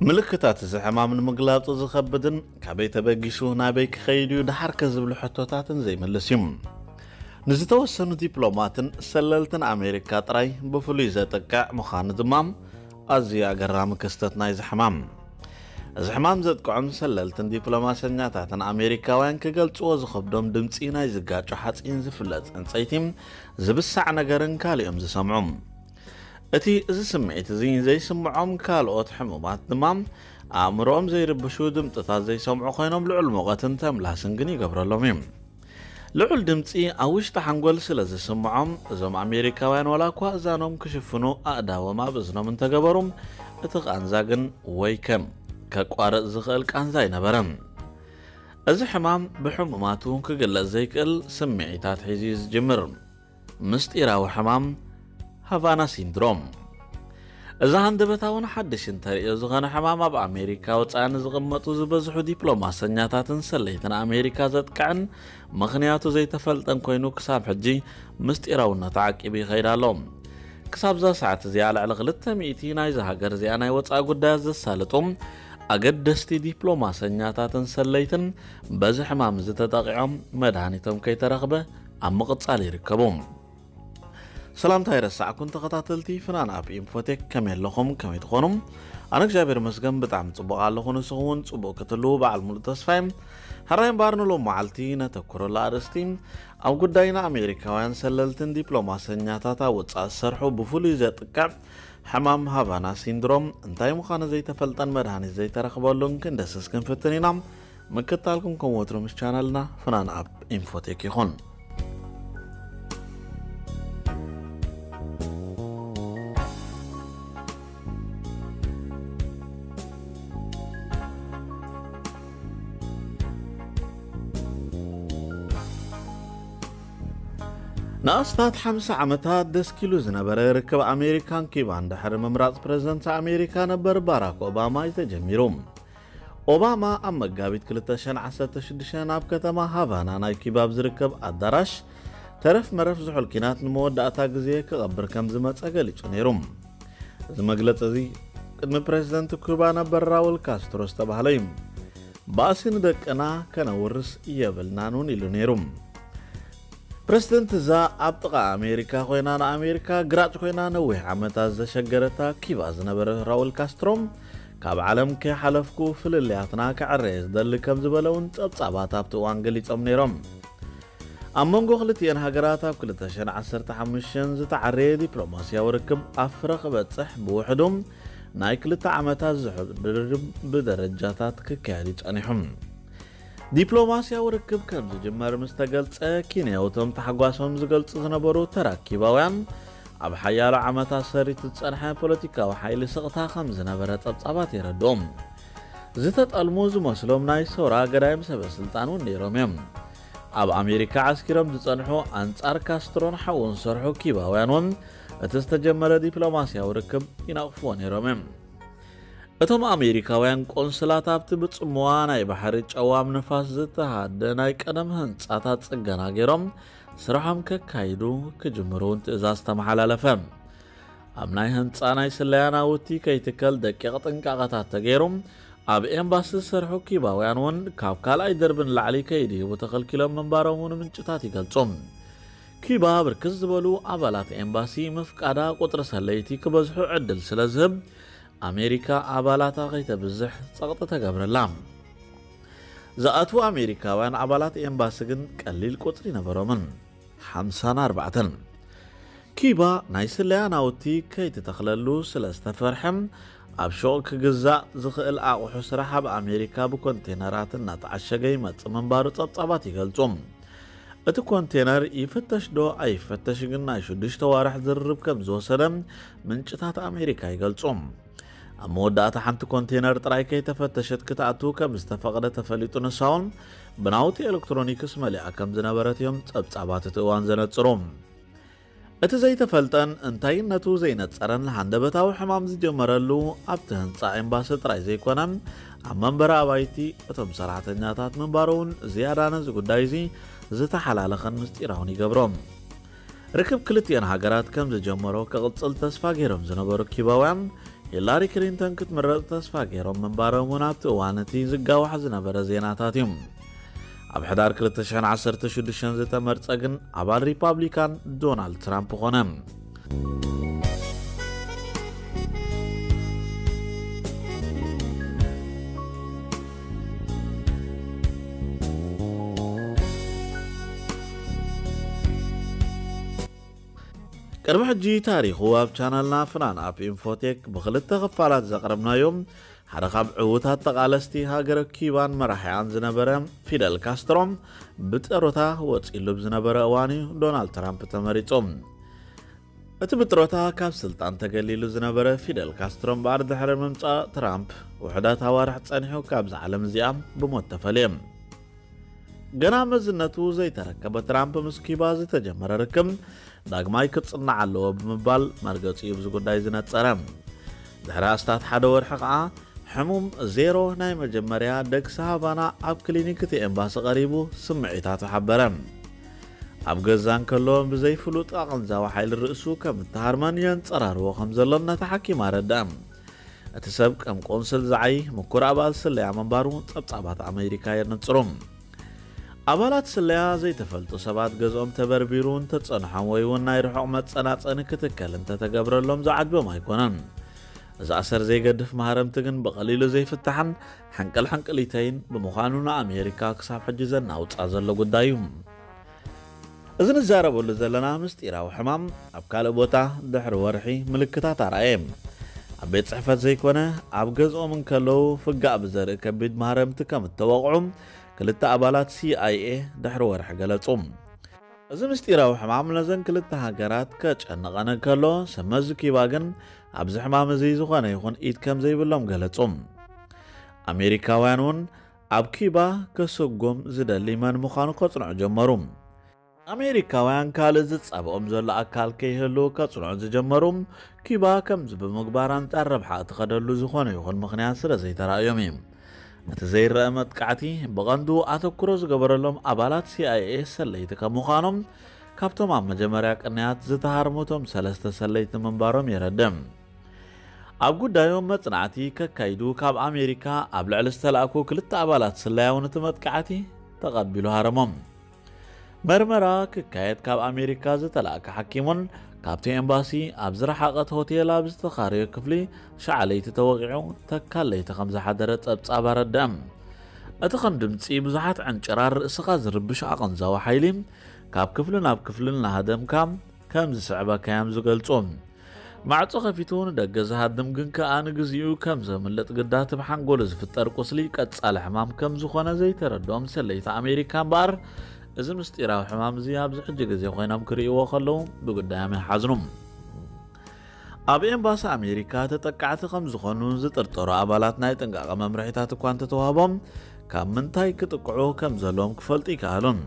ምልክታት እዚ ሕማም ንምግላጹ ዝኸብድን ካበይ ተበጊሱ ናበይ ክኸይድ እዩ ደሓርከ ዝብሉ ሕቶታትን ዘይምልስ እዩ። ንዝተወሰኑ ዲፕሎማትን ሰለልትን ኣሜሪካ ጥራይ ብፍሉይ ዘጥቅዕ ምዃኑ ድማ ኣዝዩ ኣገራሚ ክስተት ናይዚ ሕማም። እዚ ሕማም ዘጥቅዖም ሰለልትን ዲፕሎማሰኛታትን ኣሜሪካውያን ክገልጽዎ ዝኸብዶም ድምጺ ናይ ዝጋጮ ሓጺን ዝፍለጥ ዕንጸይቲ ዝብሳዕ ነገርን ካልኦም ዝሰምዑ። እቲ እዚ ስምዒት እዚ ዘይስምዖም ካልኦት ሕሙማት ድማ ኣእምሮኦም ዘይርብሹ ድምፅታት ዘይሰምዑ ኮይኖም ልዑል ሙቐትን ተምላስን ግን ይገብረሎም እዩ። ልዑል ድምፂ ኣብ ውሽጢ ሓንጎል ስለ ዝስምዖም እዞም ኣሜሪካውያን ዋላ እኳ እዛኖም ክሽፍኑ ኣእዳዎም ኣብ እዝኖም እንተገበሩ እቲ ቃንዛ ግን ወይ ከም ከቋርፅ ዝኽእል ቃንዛ ኣይነበረን። እዚ ሕማም ብሕሙማቱ ክግለጽ ዘይክእል ስምዒታት ሒዙ እዩ ዝጅምር። ምስጢራዊ ሕማም ሃቫና ሲንድሮም። እዚ ሃንደበታውን ሓድሽን ተርእዮ ዝኾነ ሕማም ኣብ ኣሜሪካ ወጻኢ ንዝቕመጡ ዝበዝሑ ዲፕሎማሰኛታትን ሰለይትን ኣሜሪካ ዘጥቅዕን ምኽንያቱ ዘይተፈልጠን ኮይኑ ክሳብ ሕጂ ምስጢራውነቱ ዓቂቡ ይኸይድ ኣሎ። ክሳብ እዛ ሰዓት እዚኣ ልዕሊ ክልተ ሚእቲ ናይዛ ሃገር እዚኣ ናይ ወጻኢ ጉዳያት ዘሳልጡ ኣገደስቲ ዲፕሎማሰኛታትን ሰለይትን በዚ ሕማም እዚ ተጠቒዖም መድሃኒቶም ከይተረኽበ ኣብ ምቕጻል ይርከቡ። ሰላምታ ይረሳዕኩን ተኸታተልቲ ፍናን ኣብ ኢንፎቴክ ከመይ ኣለኹም? ከመይ ትኾኑ? ኣነ እግዚኣብሔር መስገን ብጣዕሚ ጽቡቕ ኣለኹ። ንስኹም እውን ጽቡቕ ክትህልዉ በዓል ሙሉእ ተስፋ እየ። ሕራይ እምበኣር ንሎም መዓልቲ ነተኩረሉ ኣርእስቲ ኣብ ጉዳይና ኣሜሪካውያን ሰለልትን ዲፕሎማሰኛታት ኣብ ወጻኢ ዝሰርሑ ብፍሉይ ዘጥቅዕ ሕማም ሃቫና ሲንድሮም እንታይ ምዃኑ ዘይተፈልጠን መድሃኒት ዘይተረኽበሉን ክንደስስ ክንፍትን ኢና። ምክታልኩም ከም ወትሩ ምስ ቻነልና ፍናን ኣብ ኢንፎቴክ ይኹን። ንኣስታት ሓምሳ ዓመታት ደስኪሉ ዝነበረ ርክብ ኣሜሪካን ኪባን ድሕሪ ምምራጽ ፕረዚደንት ኣሜሪካ ነበር ባራክ ኦባማ እዩ ተጀሚሩ። ኦባማ ኣብ መጋቢት ክልተ ሽሕን ዓሰርተ ሽዱሽተን ኣብ ከተማ ሃቫና ናይ ኪባ ኣብ ዝርከብ ኣዳራሽ ተረፍ መረፍ ዝሑል ኪናት ንመወዳእታ ግዜ ክቐብር ከም ዝመጸ ገሊጹ ነይሩ። እዚ መግለጺ እዚ ቅድሚ ፕረዚደንት ኩባ ነበር ራውል ካስትሮ ዝተባህለ እዩ። ባእሲ ንደቅና ከነውርስ የብልናን እውን ኢሉ ነይሩ። ፕረዚደንት እዛ ኣብ ጥቓ ኣሜሪካ ኮይና ንኣሜሪካ ግራጭ ኮይና ነዊሕ ዓመታት ዘሸገረታ ኪባ ዝነበረ ራውል ካስትሮ ካብ ዓለም ከይሓለፍኩ ፍልልያትና ክዕረየ ዝደሊ ከም ዝበለ እውን ጸብጻባት ኣብቲ እዋን ገሊጾም ነይሮም። ኣብ መንጎ ክልቲኤን ሃገራት ኣብ ክልተ ሽሕን ዓሰርተ ሓሙሽተን ዝተዓረየ ዲፕሎማስያዊ ርክብ ኣብ ፍረ ክበጽሕ ብውሕዱ ናይ ክልተ ዓመታት ዝሑል ድርድር ብደረጃታት ክካየድ እዩ ጸኒሑ። ዲፕሎማስያዊ ርክብ ከም ዝጅመር ምስ ተገልጸ፣ ኪንያውቶም ታሕጓሶም ዝገልጹ ዝነበሩ ተራ ኪባውያን ኣብ ሓያሎ ዓመታት ሰሪቱ ዝጸንሐ ፖለቲካዊ ሓይሊ ስቕታ ከም ዝነበረ ጸብጻባት የረድኦም። ዝተጠልሙ ዝመስሎም ናይ ሰውራ ገዳይም ሰበ ስልጣን እውን ነይሮም እዮም። ኣብ ኣሜሪካ ዓስኪሮም ዝጸንሑ ኣንጻር ካስትሮን ሓውን ዝሰርሑ ኪባውያን እውን እቲ ዝተጀመረ ዲፕሎማስያዊ ርክብ ይነቕፍዎ ነይሮም እዮም። እቶም ኣሜሪካውያን ቆንስላት ኣብቲ ብጽምዋ ናይ ባሕሪ ጨዋም ንፋስ ዝተሃደ ናይ ቀደም ህንጻታት ጽገና ገይሮም ስርሖም ከካይዱ ክጅምሩ እውን ትእዛዝ ተመሓላለፈ። ኣብ ናይ ህንጻ ናይ ስለያ ናውቲ ከይትከል ደቂቕ ጥንቃቐታት ተገይሩ፣ ኣብ ኤምባሲ ዝሰርሑ ኪባውያን እውን ካብ ካልኣይ ደርቢ ንላዕሊ ከይድይቡ ተኸልኪሎም ምንባሮም እውን ምንጭታት ይገልጹ። ኪባ ብርክት ዝበሉ ኣባላት ኤምባሲ ምፍቃዳ ቁጽሪ ሰለይቲ ክበዝሑ ዕድል ስለ ዝህብ፣ ኣሜሪካ ኣባላታ ከይተብዝሕ ጸቕጢ ተገብረላ። ዝኣትዉ ኣሜሪካውያን ኣባላት ኤምባሲ ግን ቀሊል ቁጽሪ ነበሮምን፣ ሓምሳን ኣርባዕተን። ኪባ ናይ ስለያ ናውቲ ከይትተኽለሉ ስለ ዝተፈርሐ፣ ኣብ ሹቕ ክግዛእ ዝኽእል ኣቑሑ ስራሕ ኣብ ኣሜሪካ ብኮንቴነራት እናተዓሸገ ይመጽእ ምንባሩ ጸብጻባት ይገልጹ። እቲ ኮንቴነር ይፍተሽ ዶ ኣይፈተሽ ግን ናይ ሽዱሽተ ዋርሕ ዝርርብ ከም ዝወሰደ ምንጭታት ኣሜሪካ ይገልጹ። ኣብ መወዳእታ ሓንቲ ኮንቴነር ጥራይ ከይተፈተሸት ክትኣቱ ከም ዝተፈቕደ ተፈሊጡ፣ ንሳ እውን ብናውቲ ኤሌክትሮኒክስ መሊኣ ከም ዝነበረት እዮም ጸብጻባት እቲ እዋን ዘነጽሩ። እቲ ዘይተፈልጠን እንታይነቱ ዘይነጸረን ሃንደበታዊ ሕማም ዝጀመረሉ ኣብቲ ህንጻ ኤምባሲ ጥራይ ዘይኮነ፣ ኣብ መንበሪ ኣባይቲ እቶም ሰራሕተኛታት ምንባሩ እውን ዝያዳ ነዚ ጉዳይ እዚ ዝተሓላለኸን ምስጢራውን ይገብሮ። ርክብ ክልቲኤን ሃገራት ከም ዝጀመሮ ክቕጽል ተስፋ ገይሮም ዝነበሩ ኪባውያን፣ ሂላሪ ክሊንተን ክትምረጽ ተስፋ ገይሮም ምንባሮም እውን ኣብቲ እዋን እቲ ዝጋዋሕ ዝነበረ ዜናታት እዩ። ኣብ ሕዳር ክልተ ሽሕን ዓሰርተ ሽዱሽተን ዝተመርጸ ግን ኣባል ሪፓብሊካን ዶናልድ ትራምፕ ኾነ። ቅድሚ ሕጂ ታሪኹ ኣብ ቻናልና ፍናን ኣፕ ኢንፎቴክ ብኽልተ ክፋላት ዘቕረብናዮም ሓደ ካብ ዕዉታት ተቓለስቲ ሃገረ ኪባን መራሒኣን ዝነበረ ፊደል ካስትሮ ብጥሮታ ወፂሉ ብዝነበረ እዋን እዩ ዶናልድ ትራምፕ ተመሪፁ። እቲ ብጥሮታ ካብ ስልጣን ተገሊሉ ዝነበረ ፊደል ካስትሮ እምበኣር ድሕሪ ምምፃእ ትራምፕ ውሕዳት ኣዋርሕ ፀኒሑ ካብዛ ዓለም እዚኣ ብሞት ተፈለየ። ገና መዝነቱ ዘይተረከበ ትራምፕ ምስ ኪባ ዝተጀመረ ርክብ ዳግማይ ክጽናዕ ኣለዎ ብምባል መርገጺኡ ብዚ ጉዳይ ዝነጸረ። ድሕሪ ኣስታት ሓደ ወርሒ ከኣ ሕሙም ዜሮ ናይ መጀመርያ ደግሲ ሃቫና ኣብ ክሊኒክ እቲ ኤምባሲ ቀሪቡ ስምዒታቱ ሓበረ። ኣብ ገዛ እንከሎ ብዘይፍሉጥ ኣቐንዛዊ ሓይሊ ርእሱ ከም እተሃርመን የንጸራርዎ ከም ዘሎን ነቲ ሓኪም ኣረድኣ። እቲ ሰብ ከም ቆንስል ዝዓይ ምኩር ኣባል ስለያ ምንባሩ ጸብጻባት ኣሜሪካ የነጽሩ። ኣባላት ስለያ ዘይተፈልጡ ሰባት ገዝኦም ተበርቢሩ እንተጸንሖም ወይ እውን ናይ ርሑቕ መጸናጸኒ ክትከል እንተተገብረሎም ዝዓጅቦም ኣይኮነን። እዚ ኣሰር ዘይገድፍ ማህረምቲ ግን ብቐሊሉ ዘይፍታሕን ሕንቅል ሕንቅሊተይን ብምዃኑ ንኣሜሪካ ክሳብ ሕጂ ዘናውጻ ዘሎ ጉዳይ እዩ። እዚ ንዛረበሉ ዘለና ምስጢራዊ ሕማም ኣብ ካልእ ቦታ ድሕሪ ወርሒ ምልክታት ኣርኣየ። ኣብ ቤት ጽሕፈት ዘይኮነ ኣብ ገዝኦም እንከለዉ ፍጋእ ብዘርኢ ከቢድ ማህረምቲ ከም እተወቕዑ ክልተ ኣባላት ሲ ኣይ ኤ ድሕሪ ወርሒ ገለጹ። እዚ ምስጢራዊ ሕማም ነዘን ክልተ ሃገራት ከጨንቐን እንከሎ፣ ሰብ መዚ ኪባ ግን ኣብዚ ሕማም እዚ ዝኾነ ይኹን ኢድ ከም ዘይብሎም ገለጹ። ኣሜሪካውያን እውን ኣብ ኪባ ከሰጎም ዝደሊ መን ምዃኑ ከጽንዑ ጀመሩ። ኣሜሪካውያን ካልእ ዝጻብኦም ዘሎ ኣካል ከይህሉ ከጽንዑ ዝጀመሩ ኪባ ከምዚ ብምግባር ኣንጻር ረብሓ እትኸደሉ ዝኾነ ይኹን ምኽንያት ስለ ዘይተራእዮም እዩ። እቲ ዘይረአ መጥቃዕቲ ብቐንዱ ኣተኩሮ ዝገበረሎም ኣባላት ሲ ኣይ ኤ ሰለይቲ ከም ምዃኖም ካብቶም ኣብ መጀመርያ ቅንያት ዝተሃርሙ እቶም ሰለስተ ሰለይቲ ምንባሮም የረድእ። ኣብ ጉዳዮም መጽናዕቲ ከካይዱ ካብ ኣሜሪካ ኣብ ልዕሊ ዝተላእኩ ክልተ ኣባላት ስለያ እውን እቲ መጥቃዕቲ ተቐቢሉ ሃረሞም። መርመራ ክካየድ ካብ ኣሜሪካ ዝተላእከ ሓኪሙን ካብቲ ኤምባሲ ኣብ ዝረሓቐት ሆቴል ኣብ ዝተኻረዮ ክፍሊ ሸዓ ለይቲ ተወቒዑ ተካል ለይቲ ከም ዝሓደረ ጸብጻብ ኣረድአ። እቲ ከም ድምጺ ብዙሓት ዕንጭራር ርእስኻ ዝርብሽ ኣቐንዛዊ ሓይሊ ካብ ክፍሊ ናብ ክፍሊ እናሃደምካ ከም ዝስዕበካ እዮም ዝገልጹ። ማዕጾ ከፊቱ ንደገ ዝሃድም ግን ከኣ ንግዚኡ ከም ዘምልጥ ግዳ እቲ ብሓንጎሉ ዝፍጠር ቁስሊ ቀጻሊ ሕማም ከም ዝኾነ ዘይተረድኦም ሰለይቲ ኣሜሪካ እምበኣር፣ እዚ ምስጢራዊ ሕማም እዚ ኣብዚ ሕጂ ግዜ ኮይኖም ክርእይዎ ከለዉ ብጉዳዮም ይሓዝኑ። ኣብ ኤምባሲ ኣሜሪካ ተጠቃዕቲ ከም ዝኾኑ ዝጥርጠሩ ኣባላት ናይ ጥንቃቐ መምርሒታት እኳ እንተተዋህቦም፣ ካብ ምንታይ ክጥቅዑ ከም ዘለዎም ክፈልጡ ይከኣሉን።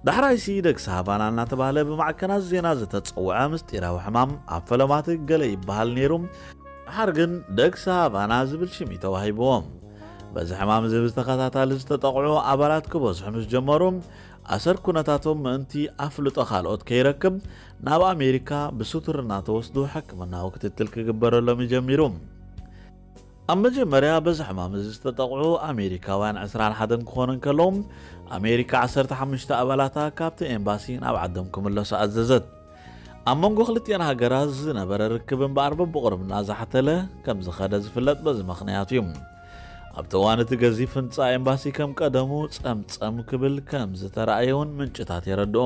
ዳሕራይሲ ደግሲ ሃቫና እናተባህለ ብማዕከናት ዜና ዝተጸውዐ ምስጢራዊ ሕማም ኣብ ፈለማት ገለ ይበሃል ነይሩ። ድሓር ግን ደግሲ ሃቫና ዝብል ሽም እዩ ተዋሂብዎ። በዚ ሕማም እዚ ብተኸታታሊ ዝተጠቕዑ ኣባላት ክበዝሑ ምስ ጀመሩ፣ ኣሰር ኩነታቶም ምእንቲ ኣፍልጦ ካልኦት ከይረክብ ናብ ኣሜሪካ ብስቱር እናተወስዱ ሕክምናዊ ክትትል ክግበረሎም እዩ ጀሚሩ። ኣብ መጀመርያ በዚ ሕማም እዚ ዝተጠቕዑ ኣሜሪካውያን ዕስራን ሓደን ክኾኑ እንከለዉ፣ ኣሜሪካ ዓሰርተ ሓሙሽተ ኣባላታ ካብቲ ኤምባሲ ናብ ዓዶም ክምለሱ ኣዘዘት። ኣብ መንጎ ክልቲኤን ሃገራት ዝነበረ ርክብ እምበኣር በብቑሩብ እናዛሕተለ ከም ዝኸደ ዝፍለጥ በዚ ምኽንያት እዩ። ኣብቲ እዋን እቲ ገዚፍ ህንጻ ኤምባሲ ከም ቀደሙ ጸምጸም ክብል ከም ዝተራእየ እውን ምንጭታት የረድኡ።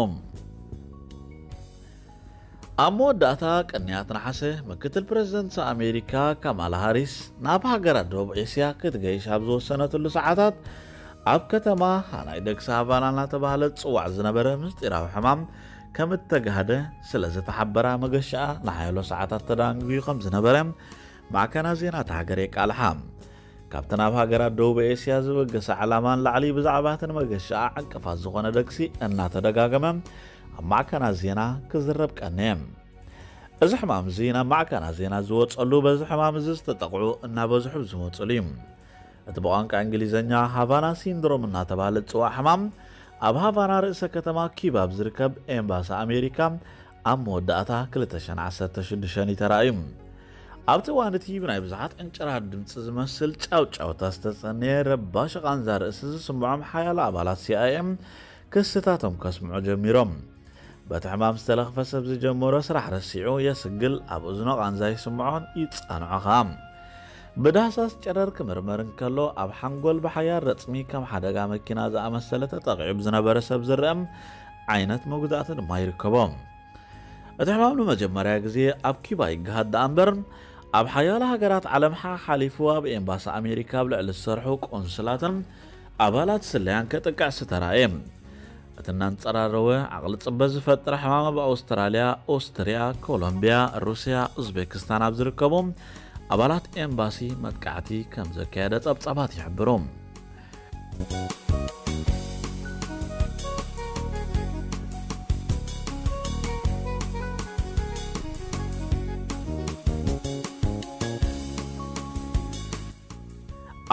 ኣብ መወዳእታ ቅንያት ነሓሰ፣ ምክትል ፕረዚደንት ኣሜሪካ ካማላ ሃሪስ ናብ ሃገራት ደቡብ ኤስያ ክትገይሽ ኣብ ዝወሰነትሉ ሰዓታት፣ ኣብ ከተማ ሃናይ ደግሲ ሃቫና እናተባህለ ዝጽዋዕ ዝነበረ ምስጢራዊ ሕማም ከም እተጋህደ ስለ ዝተሓበራ፣ መገሻኣ ንሓያሎ ሰዓታት ተዳንጒ ከም ዝነበረ ማዕከናት ዜና እታ ሃገር የቃልሓ። ካብተን ኣብ ሃገራት ደቡብ ኤስያ ዝበገሰ ዕላማ ንላዕሊ፣ ብዛዕባ እተን መገሻኣ ዕንቅፋት ዝኾነ ደግሲ እናተደጋገመ ኣብ ማዕከናት ዜና ክዝረብ ቀነየ። እዚ ሕማም እዚ ናብ ማዕከናት ዜና ዝወጸሉ፣ በዚ ሕማም እዚ ዝተጠቕዑ እናበዝሑ ዝመጹሉ እዩ። እቲ ብቋንቋ እንግሊዝኛ ሃቫና ሲንድሮም እናተባህለ ዝጽዋዕ ሕማም፣ ኣብ ሃቫና ርእሰ ከተማ ኪባ ኣብ ዝርከብ ኤምባሲ ኣሜሪካ ኣብ መወዳእታ ክልተ ሽሕን ዓሰርተ ሽዱሽተን እዩ ተራእዩ። ኣብቲ እዋን እቲ ብናይ ብዙሓት ዕንጭራት ድምፂ ዝመስል ጫውጫውታ ዝተጸነየ ረባሺ ቃንዛ ርእሲ ዝስምዖም ሓያሎ ኣባላት ሲኣይኤ ክስታቶም ከስምዑ ጀሚሮም። በቲ ሕማም ዝተለኽፈ ሰብ ዝጀመሮ ስራሕ ረሲዑ የስግል፣ ኣብ እዝኖ ቃንዛ ይስምዖን ይጻንዖ ኸኣ። ብዳህሳስ ጨረር ክምርመር እንከሎ፣ ኣብ ሓንጎል ብሓያል ረጽሚ ከም ሓደጋ መኪና ዝኣመሰለ ተጠቒዑ ብዝነበረ ሰብ ዝረአ ዓይነት መጉዳእቲ ድማ ይርከቦ። እቲ ሕማም ንመጀመርያ ግዜ ኣብ ኪባ ይገሃድ ደኣ እምበር፣ ኣብ ሓያሎ ሃገራት ዓለም ሓሓሊፉ ኣብ ኤምባሲ ኣሜሪካ ኣብ ልዕሊ ዝሰርሑ ቆንስላትን ኣባላት ስለያን ከጥቅዕ ዝተራእየ። እቲ እናንጸራረወ ዓቕሊ ጽበ ዝፈጥር ሕማም ኣብ ኣውስትራልያ፣ ኦስትርያ፣ ኮሎምብያ፣ ሩስያ፣ ኡዝቤክስታን ኣብ ዝርከቡ ኣባላት ኤምባሲ መጥቃዕቲ ከም ዘካየደ ጸብጻባት ይሕብሩ።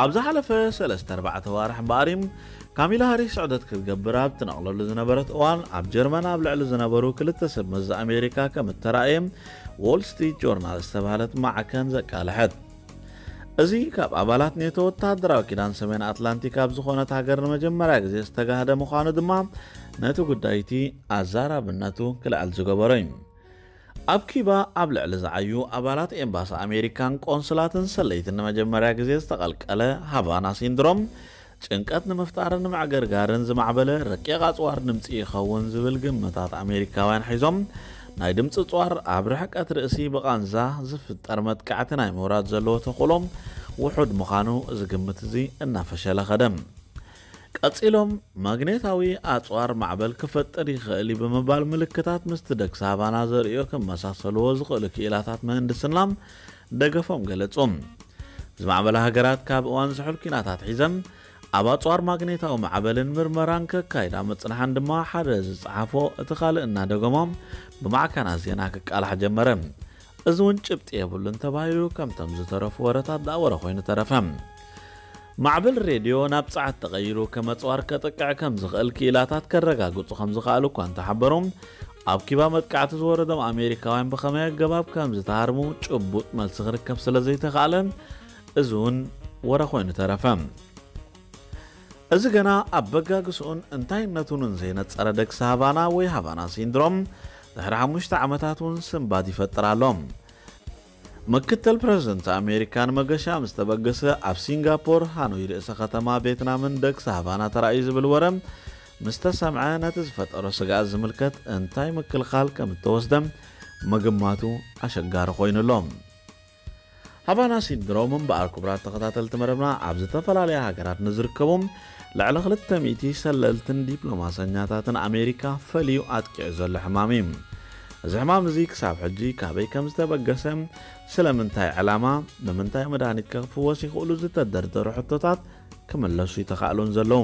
ኣብ ዝሓለፈ ሰለስተ ኣርባዕተ ዋርሕ እምበኣር እዩ ካሚላ ሃሪስ ስዕደት ክትገብር ኣብ ትነቕለሉ ዝነበረት እዋን፣ ኣብ ጀርመን ኣብ ልዕሊ ዝነበሩ ክልተ ሰብ መዚ ኣሜሪካ ከም እተራእየ ዎል ስትሪት ጆርናል ዝተባህለት ማዕከን ዘቃልሐት። እዚ ካብ ኣባላት ኔቶ ወተሃደራዊ ኪዳን ሰሜን ኣትላንቲክ ኣብ ዝኾነት ሃገር ንመጀመርያ ግዜ ዝተጋህደ ምዃኑ ድማ ነቲ ጉዳይ እቲ ኣዛራብነቱ ክልዕል ዝገበሮ እዩ። ኣብ ኪባ ኣብ ልዕሊ ዝዓዩ ኣባላት ኤምባሲ ኣሜሪካን ቆንስላትን ሰለይትን ንመጀመርያ ግዜ ዝተቐልቀለ ሃቫና ሲንድሮም፣ ጭንቀት ንምፍጣርን ንምዕግርጋርን ዝማዕበለ ረቂቕ ኣጽዋር ድምጺ ይኸውን ዝብል ግምታት ኣሜሪካውያን ሒዞም፣ ናይ ድምጺ ኣጽዋር ኣብ ርሕቀት ርእሲ ብቓንዛ ዝፍጠር መጥቃዕቲ ናይ ምውራድ ዘለዎ ተኽእሎ ውሑድ ምዃኑ፣ እዚ ግምት እዚ እናፈሸለ ኸደ። ቀጺሎም፣ ማግኔታዊ ኣጽዋር ማዕበል ክፈጥር ይኽእል እዩ ብምባል፣ ምልክታት ምስቲ ደግሲ ሃቫና ዘርእዮ ክመሳሰልዎ ዝኽእሉ ክኢላታት ምህንድስና ደገፎም ገለጹ። ዝማዕበላ ሃገራት ካብ እዋን ዝሑል ኲናታት ሒዘን ኣብ ኣጽዋር ማግኔታዊ ማዕበልን ምርመራን ከካይዳ ምጽንሓን ድማ ሓደ ዝጸሓፎ እቲ ካልእ እናደገሞ ብማዕከናት ዜና ክቃላሕ ጀመረ። እዚ እውን ጭብጢ የብሉን ተባሂሉ ከምቶም ዝተረፉ ወረታት ደኣ ወረ ኮይኑ ተረፈ። ማዕበል ሬድዮ ናብ ጸዓት ተቐይሩ ከም ኣጽዋር ከጥቅዕ ከም ዝኽእል ክኢላታት ከረጋግጹ ከም ዝኸኣሉ እኳ እንተሓበሩ፣ ኣብ ኪባ መጥቃዕቲ ዝወረዶም ኣሜሪካውያን ብኸመይ ኣገባብ ከም ዝተሃርሙ ጭቡጥ መልሲ ክርከብ ስለ ዘይተኻእለ፣ እዚ እውን ወረ ኮይኑ ተረፈ። እዚ ገና ኣብ በጋግስኡን እንታይነቱን ዘይነጸረ ደግሲ ሃቫና ወይ ሃቫና ሲንድሮም ድሕሪ ሓሙሽተ ዓመታት እውን ስንባድ ይፈጥር ኣሎ። ምክትል ፕረዚደንት ኣሜሪካ ንመገሻ ምስ ተበገሰ፣ ኣብ ሲንጋፖር፣ ሃኖይ ርእሰ ከተማ ቬትናምን ደግሲ ሃቫና ተራእዩ ዝብል ወረ ምስ ተሰምዐ፣ ነቲ ዝፈጠሮ ስግኣት ዝምልከት እንታይ ምክልኻል ከም እተወስደ ምግማቱ ኣሸጋሪ ኮይኑ ኣሎ። ሃቫና ሲንድሮም እምበኣር፣ ክቡራት ተኸታተልቲ መደብና፣ ኣብ ዝተፈላለያ ሃገራት ንዝርከቡ ልዕሊ ክልተ ሚእቲ ሰለልትን ዲፕሎማሰኛታትን ኣሜሪካ ፈልዩ ኣጥቂዑ ዘሎ ሕማም እዩ። እዚ ሕማም እዚ ክሳብ ሕጂ ካበይ ከም ዝተበገሰ፣ ስለምንታይ ዕላማ፣ ብምንታይ መድሃኒት ከ ክፍወስ ይኽእሉ ዝተደርደሩ ሕቶታት ክምለሱ ይተኻእሉን ዘለዉ።